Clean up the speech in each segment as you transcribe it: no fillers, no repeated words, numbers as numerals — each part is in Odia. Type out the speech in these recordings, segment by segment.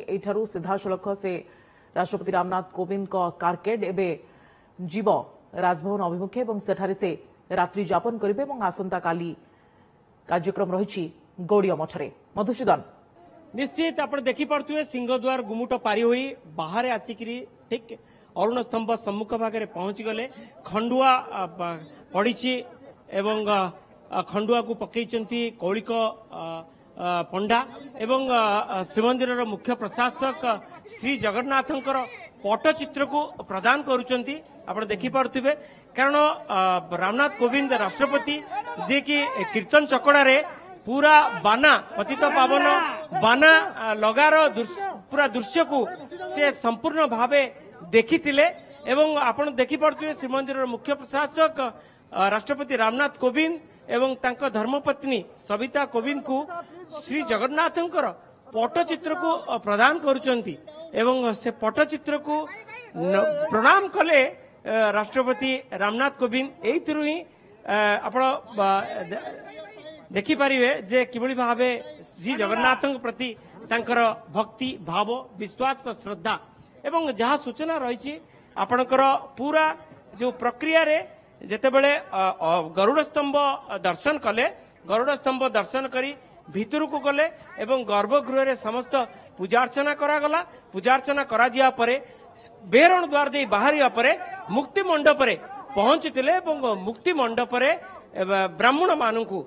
ଏଇଠାରୁ ସିଧାସଳଖ ସେ ରାଷ୍ଟ୍ରପତି ରାମନାଥ କୋବିନ୍ଦଙ୍କ କାରକେଡ୍ ଏବେ ଯିବ ରାଜଭବନ ଅଭିମୁଖେ ଏବଂ ସେଠାରେ ସେ ରାତ୍ରି ଯାପନ କରିବେ ଏବଂ ଆସନ୍ତାକାଲି କାର୍ଯ୍ୟକ୍ରମ ରହିଛି ଗୌଡୀୟ ମଠରେ। ମଧୁସୂଦନ, ନିଶ୍ଚିତ ଆପଣ ଦେଖିପାରୁଥିବେ ସିଂହଦ୍ୱାର ଗୁମୁଟ ପାରି ହୋଇ ବାହାରେ ଆସିକିରି ଠିକ ଅରୁଣ ସ୍ତମ୍ଭ ସମ୍ମୁଖ ଭାଗରେ ପହଞ୍ଚିଗଲେ। ଖଣ୍ଡୁଆ ପଡ଼ିଛି ଏବଂ ଖଣ୍ଡୁଆକୁ ପକେଇଛନ୍ତି କୌଳିକ ପଣ୍ଡା ଏବଂ ଶ୍ରୀମନ୍ଦିରର ମୁଖ୍ୟ ପ୍ରଶାସକ ଶ୍ରୀ ଜଗନ୍ନାଥଙ୍କର ପଟ୍ଟଚିତ୍ରକୁ ପ୍ରଦାନ କରୁଛନ୍ତି। ଆପଣ ଦେଖିପାରୁଥିବେ, କାରଣ ରାମନାଥ କୋବିନ୍ଦ ରାଷ୍ଟ୍ରପତି ଯିଏକି କୀର୍ତ୍ତନ ଚକଡ଼ାରେ ପୁରା ବାନା ପତିତ ପାବନ ବାନା ଲଗାର ପୁରା ଦୃଶ୍ୟକୁ ସେ ସମ୍ପୂର୍ଣ୍ଣ ଭାବେ ଦେଖିଥିଲେ। ଏବଂ ଆପଣ ଦେଖିପାରୁଥିବେ ଶ୍ରୀମନ୍ଦିରର ମୁଖ୍ୟ ପ୍ରଶାସକ ରାଷ୍ଟ୍ରପତି ରାମନାଥ କୋବିନ୍ଦ ଏବଂ ତାଙ୍କ ଧର୍ମପତ୍ନୀ ସବିତା କୋବିନ୍ଦଙ୍କୁ ଶ୍ରୀ ଜଗନ୍ନାଥଙ୍କର ପଟ୍ଟଚିତ୍ରକୁ ପ୍ରଦାନ କରୁଛନ୍ତି ଏବଂ ସେ ପଟ୍ଟଚିତ୍ରକୁ ପ୍ରଣାମ କଲେ ରାଷ୍ଟ୍ରପତି ରାମନାଥ କୋବିନ୍ଦ। ଏଇଥିରୁ ହିଁ ଆପଣ ଦେଖିପାରିବେ ଯେ କିଭଳି ଭାବେ ଶ୍ରୀ ଜଗନ୍ନାଥଙ୍କ ପ୍ରତି ତାଙ୍କର ଭକ୍ତି ଭାବ, ବିଶ୍ୱାସ, ଶ୍ରଦ୍ଧା। ଏବଂ ଯାହା ସୂଚନା ରହିଛି ଆପଣଙ୍କର, ପୁରା ଯୋଉ ପ୍ରକ୍ରିୟାରେ ଯେତେବେଳେ ଗରୁଡ଼ ସ୍ତମ୍ଭ ଦର୍ଶନ କଲେ, ଗରୁଡ଼ ସ୍ତମ୍ଭ ଦର୍ଶନ କରି ଭିତରକୁ ଗଲେ ଏବଂ ଗର୍ଭଗୃହରେ ସମସ୍ତ ପୂଜାର୍ଚ୍ଚନା କରାଗଲା। ପୂଜାର୍ଚ୍ଚନା କରାଯିବା ପରେ ବେରଣ ଦ୍ୱାର ଦେଇ ବାହାରିବା ପରେ ମୁକ୍ତି ମଣ୍ଡପରେ ପହଞ୍ଚିଥିଲେ ଏବଂ ମୁକ୍ତି ମଣ୍ଡପରେ ବ୍ରାହ୍ମଣମାନଙ୍କୁ,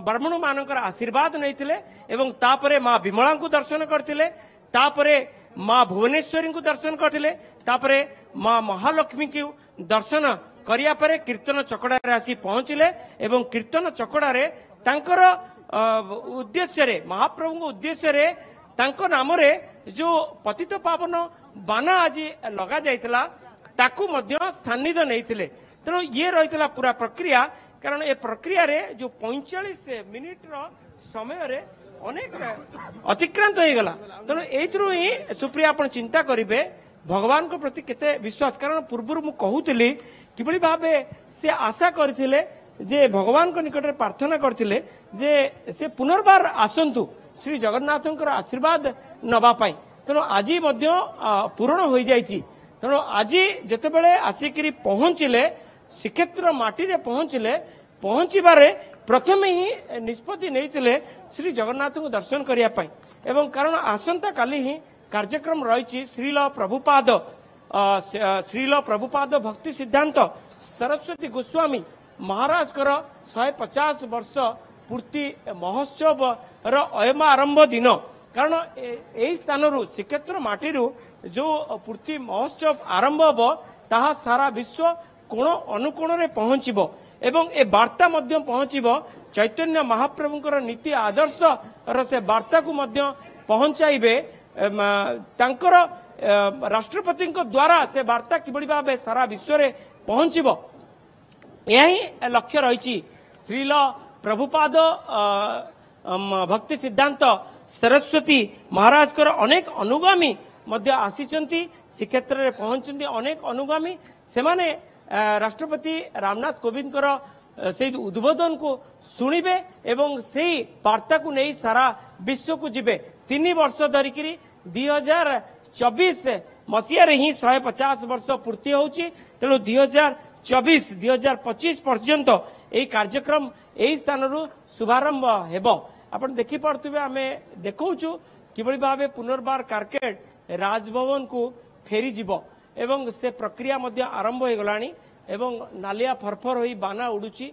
ବ୍ରାହ୍ମଣମାନଙ୍କର ଆଶୀର୍ବାଦ ନେଇଥିଲେ ଏବଂ ତାପରେ ମା ବିମଳାଙ୍କୁ ଦର୍ଶନ କରିଥିଲେ, ତାପରେ ମା ଭୁବନେଶ୍ୱରୀଙ୍କୁ ଦର୍ଶନ କରିଥିଲେ, ତାପରେ ମା ମହାଲକ୍ଷ୍ମୀଙ୍କୁ ଦର୍ଶନ କରିବା ପରେ କୀର୍ତ୍ତନ ଚକଡ଼ାରେ ଆସି ପହଞ୍ଚିଲେ ଏବଂ କୀର୍ତ୍ତନ ଚକଡ଼ାରେ ତାଙ୍କର ଉଦ୍ଦେଶ୍ୟରେ, ମହାପ୍ରଭୁଙ୍କ ଉଦ୍ଦେଶ୍ୟରେ ତାଙ୍କ ନାମରେ ଯୋଉ ପତିତ ପାବନ ବାନା ଆଜି ଲଗାଯାଇଥିଲା ତାକୁ ମଧ୍ୟ ସାନ୍ନିଧ୍ୟ ନେଇଥିଲେ। ତେଣୁ ଇଏ ରହିଥିଲା ପୁରା ପ୍ରକ୍ରିୟା, କାରଣ ଏ ପ୍ରକ୍ରିୟାରେ ଯୋଉ 45 ମିନିଟର ସମୟରେ ଅନେକ ଅତିକ୍ରାନ୍ତ ହେଇଗଲା। ତେଣୁ ଏଇଥିରୁ ହିଁ ସୁପ୍ରିୟା ଆପଣ ଚିନ୍ତା କରିବେ ଭଗବାନଙ୍କ ପ୍ରତି କେତେ ବିଶ୍ୱାସ, କାରଣ ପୂର୍ବରୁ ମୁଁ କହୁଥିଲି କିଭଳି ଭାବେ ସେ ଆଶା କରିଥିଲେ ଯେ ଭଗବାନଙ୍କ ନିକଟରେ ପ୍ରାର୍ଥନା କରିଥିଲେ ଯେ ସେ ପୁନର୍ବାର ଆସନ୍ତୁ ଶ୍ରୀ ଜଗନ୍ନାଥଙ୍କର ଆଶୀର୍ବାଦ ନେବା ପାଇଁ। ତେଣୁ ଆଜି ମଧ୍ୟ ପୂରଣ ହୋଇଯାଇଛି। ତେଣୁ ଆଜି ଯେତେବେଳେ ଆସିକିରି ପହଞ୍ଚିଲେ, ଶ୍ରୀକ୍ଷେତ୍ର ମାଟିରେ ପହଞ୍ଚିଲେ, ପହଞ୍ଚିବାରେ ପ୍ରଥମେ ହିଁ ନିଷ୍ପତ୍ତି ନେଇଥିଲେ ଶ୍ରୀ ଜଗନ୍ନାଥଙ୍କୁ ଦର୍ଶନ କରିବା ପାଇଁ। ଏବଂ କାରଣ ଆସନ୍ତାକାଲି ହିଁ କାର୍ଯ୍ୟକ୍ରମ ରହିଛି ଶ୍ରୀଲ ପ୍ରଭୁପାଦ ଭକ୍ତି ସିଦ୍ଧାନ୍ତ ସରସ୍ୱତୀ ଗୋସ୍ୱାମୀ ମହାରାଜଙ୍କର 150 ବର୍ଷ ପୂର୍ତ୍ତି ମହୋତ୍ସବର ଅୟମ ଆରମ୍ଭ ଦିନ। କାରଣ ଏଇ ସ୍ଥାନରୁ, ଶ୍ରୀକ୍ଷେତ୍ର ମାଟିରୁ ଯୋଉ ପୂର୍ତ୍ତି ମହୋତ୍ସବ ଆରମ୍ଭ ହେବ ତାହା ସାରା ବିଶ୍ୱ କୋଣ ଅନୁକୋଣରେ ପହଞ୍ଚିବ ଏବଂ ଏ ବାର୍ତ୍ତା ମଧ୍ୟ ପହଞ୍ଚିବ। ଚୈତନ୍ୟ ମହାପ୍ରଭୁଙ୍କର ନୀତି ଆଦର୍ଶର ସେ ବାର୍ତ୍ତାକୁ ମଧ୍ୟ ପହଞ୍ଚାଇବେ ତାଙ୍କର ରାଷ୍ଟ୍ରପତିଙ୍କ ଦ୍ୱାରା। ସେ ବାର୍ତ୍ତା କିଭଳି ଭାବେ ସାରା ବିଶ୍ୱରେ ପହଞ୍ଚିବ, ଏହା ହିଁ ଲକ୍ଷ୍ୟ ରହିଛି। ଶ୍ରୀଲ ପ୍ରଭୁପାଦ ଭକ୍ତି ସିଦ୍ଧାନ୍ତ ସରସ୍ୱତୀ ମହାରାଜଙ୍କର ଅନେକ ଅନୁଗାମୀ ମଧ୍ୟ ଆସିଛନ୍ତି, ଶ୍ରୀକ୍ଷେତ୍ରରେ ପହଞ୍ଚିଛନ୍ତି ଅନେକ ଅନୁଗାମୀ। ସେମାନେ ରାଷ୍ଟ୍ରପତି ରାମନାଥ କୋବିନ୍ଦଙ୍କର ସେଇ ଉଦ୍ବୋଧନକୁ ଶୁଣିବେ ଏବଂ ସେଇ ବାର୍ତ୍ତାକୁ ନେଇ ସାରା ବିଶ୍ୱକୁ ଯିବେ। 3 ବର୍ଷ ଧରିକିରି 2024 ମସିହାରେ ହିଁ 150 ବର୍ଷ ପୂର୍ତ୍ତି ହେଉଛି। ତେଣୁ 2024, 2025 ପର୍ଯ୍ୟନ୍ତ ଏହି କାର୍ଯ୍ୟକ୍ରମ ଏହି ସ୍ଥାନରୁ ଶୁଭାରମ୍ଭ ହେବ। ଆପଣ ଦେଖିପାରୁଥିବେ, ଆମେ ଦେଖାଉଛୁ କିଭଳି ଭାବେ ପୁନର୍ବାର କାରକେଡ୍ ରାଜଭବନକୁ ଫେରିଯିବ ଏବଂ ସେ ପ୍ରକ୍ରିୟା ମଧ୍ୟ ଆରମ୍ଭ ହୋଇଗଲାଣି ଏବଂ ନାଲିଆ ଫରଫର ହୋଇ ବାନା ଉଡୁଛି।